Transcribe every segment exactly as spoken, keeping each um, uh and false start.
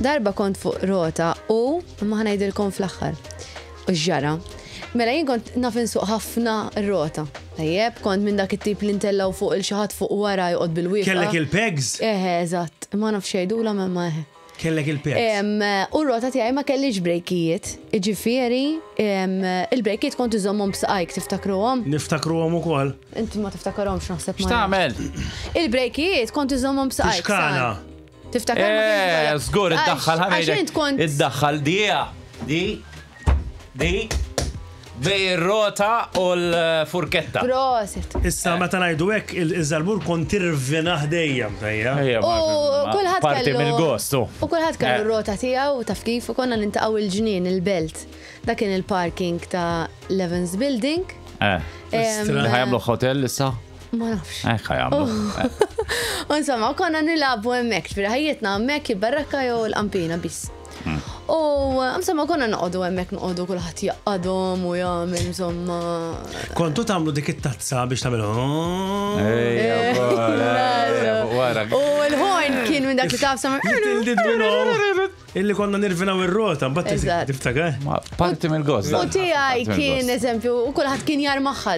Darba kont fuq rota u ma ħa ngħidilkom fl-aħħar. U ġara. Mela jien kont naf insuq ħafna rota. Tajjeb, kont minn dak it-tip li ntellgħu fuq il xi ħadd fuq wara joqgħod bil-wieqfa. Kellek il-pegs? Eħe, eżatt. Ma nafx xejdula ma ma eħe. Kellek il-pegs. Em, U r-rota tiegħi ma kellix brejkijiet. Iġifieri, em, il-brejkijiet kont iżommhom b'saqajk, tiftakruhom? Niftakruhom ukoll. Inti ma tiftakarhomx, naħseb ma. X'tagħmel? Il-brejkijiet kont iżommhom b'saqajk. Tixkana. San. Tiftakar? Ma Eh, kienx żgur, ikollha- iddaħħal Għax int kont. Iddaħħal dija. Di. Di. Bejn ir-rota u l-furketta. Prosit. Issa meta ngħidu hekk il-żarbur kont tirvinah dejjem, tajja. Ejja, U ma- kulħadd Parti kellu- mill-gostu. U kulħadd kellu Eh. r-rota tiegħu, taf kif, u konna niltaqgħu il-ġnien, il-Belt. Dak kien il-parking ta' Levens Building. Eh. Em, Li ħa jagħmlu hotel issa? Ma nafx. Eh, ħa jagħmlu. Eh. U insomma, konna nilagħbu hemmhekk, ġifieri ħajjitna hemmhekk, il-Barrakka jew l-Qampina biss. U insomma konna noqogħdu hemmhekk, noqogħdu kulħadd jaqadhom u jagħmel insomma. Kontu tagħmlu dik it-tazza biex tagħmel. Ejja, wara, wara. U l-horn kien minn dak li taf sama. Little did we know illi konna nirvinaw ir-rota, mbagħad Eżatt. tiftakar. Ma parti mill-gost. U tiegħi Parti kien mill-gost. eżempju, u kulħadd kien jarmaħħa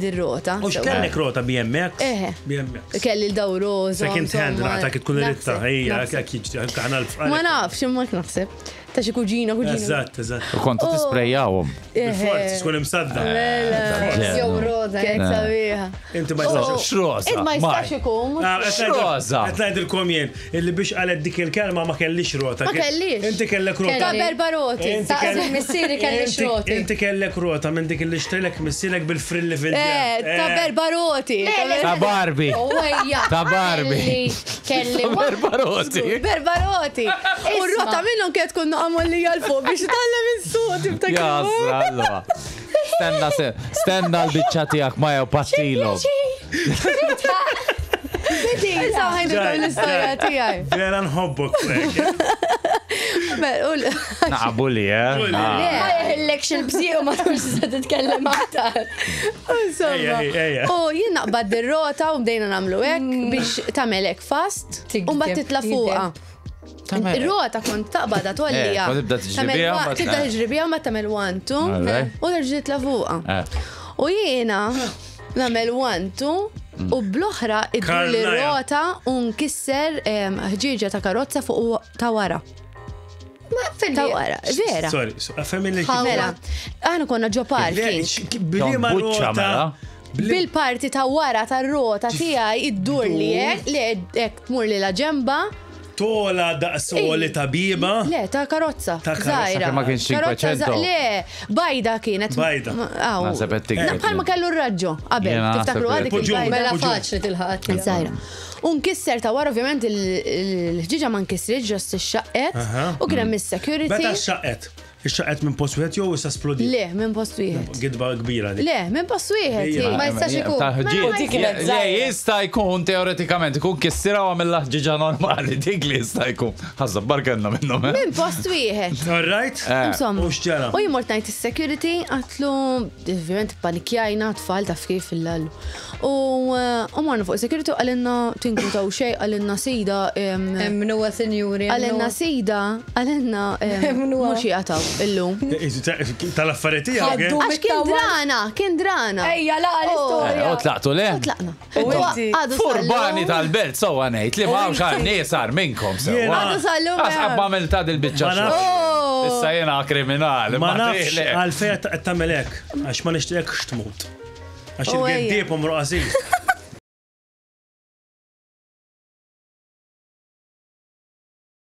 di-rota. U x'kellek rota B M X? Eħe. B M X. Kelli l-daw roza. Second hand, naqta kif tkun ritta, ejja, hekk jiġri, aħna l Ma nafx, imma naħseb. Ta' xi kuġina, kuġina. Eżatt, eżatt. U kontu tisprejjawhom. Bil-forz, tkun imsadda. Mela. Jew roza. Kienet sabiħa. Inti ma jistax. X'roża? Id ma jistax ikun. Ah, qed ngħidil- X'roża? Qed ngħidilkom jien, illi biex qalet dik il-kelma ma kellix rota. Ma kellix. Inti kellek rota. Ta' berba roti. Inti Ta' kellek- missieri kelli Inti- xroti. Inti kellek rota minn dik li xtrelek missierek bil-frilli fil Eh, ta' berba roti. Ta' Barbie. Ejja. Ta' Barbie. Kelli. Ta' Berbaroti. Berba roti. U r-rota minnhom kienet tkun naqamolli għal fuq biex titgħallem is-suq, tiftakar. Jasra, allora. Stenna, se, stenna l-biċċa tiegħek ma jew pattilhom. Issa ħa ngħidilkom l-istorja tiegħi. Vera nħobbok. Naqabu li, eh? Bulli. Ah. Ma jeħillekx il-bżieq u ma tkunx tista' titkellem aktar. Insomma. Ejja, ejja, ejja. U jien naqbad ir-rota u bdejna nagħmlu hekk biex tagħmel hekk fast u mbagħad titla' fuqha. Ir-rota kont taqbadha tollija. Eh, kont tibda tiġri biha, mbagħad- Tibda tiġri biha, ma tagħmel one two Alright. u terġa' titla' fuqha. Eh. U jiena nagħmel one two u bl-oħra iddur li Karnaja. rota u nkisser em, ħġieġa ta' karozza fuq ta' wara. Ma Ta' wara, vera. Sorry, fehmni li Mela, aħna konna ġo parking. Bliema Buċċa, rota. mela. Bil-parti ta' wara ta' rota tiegħi iddur li hekk, li hekk tmur li la ġemba. Tola daqsoli ta' biba. Le, ta' karozza. Ta' karozza. Żgħira. Sakemm ma kienx Karozza cinquecento. żgħira. Le, bajda kienet. Bajda. Ma- aw. Naħseb qed tikdeb. Na, bħalma kellu r-raġġo qabel. Jiena Tiftakru naħseb għadik Poġġu. il-bajda. Mela Poġġu. faċli tilħaq. Żgħira. U nkisser ta' wara, ovvjament il-ħġiġa ma nkisritx, just ixxaqqet Aha. u kien hemm is-security. Meta xaqet? Ixxaqet minn post wieħed jew issa splodi? Le, minn post wieħed. Gidba kbira dik. Le, minn post wieħed. Ejja. Ma jistax ikun. Tal-ħġieġ. U dik kienet Le, żgħira. jista' jkun teoretikament, ikun kissira u għamilla ħġiġa normali, dik li jista' jkun. Ħazza barkenna minnhom. eh? Minn post wieħed. All right? Eh. Insomma. U x'ġara? U jien mort ngħid is-security, għedtlu, ovvjament panikjajna, tfal, taf kif il-lallu. U eh, u morna fuq security u qalilna tinkwetaw xejn, qalilna sida, em, Emnuha, sinjuri. qalilna sida, qalilna em, Emnuha. mhux jaqtaw illum. Tal-affarijiet tiegħek, eh? Ħaddu. Għax kien drana, kien drana. Ejja, laqa l-istorja. Eh, U tlaqtu le? U tlaqna. U inti? Għadu Furbani sal-lum- tal-belt, sowa ngħid li ma hawnx għal nies għar minnkom sewa. Jiena- Għadu sal-lum. Għax qabba għamil ta' dil-biċċa Ma nafx. xogħol. Oh. Issa jiena kriminali. Ma nafx le. għalfejn qed tagħmel hekk, għax ma nixtieqekx tmut. Għax U ejja. il-geddieb umru qasir.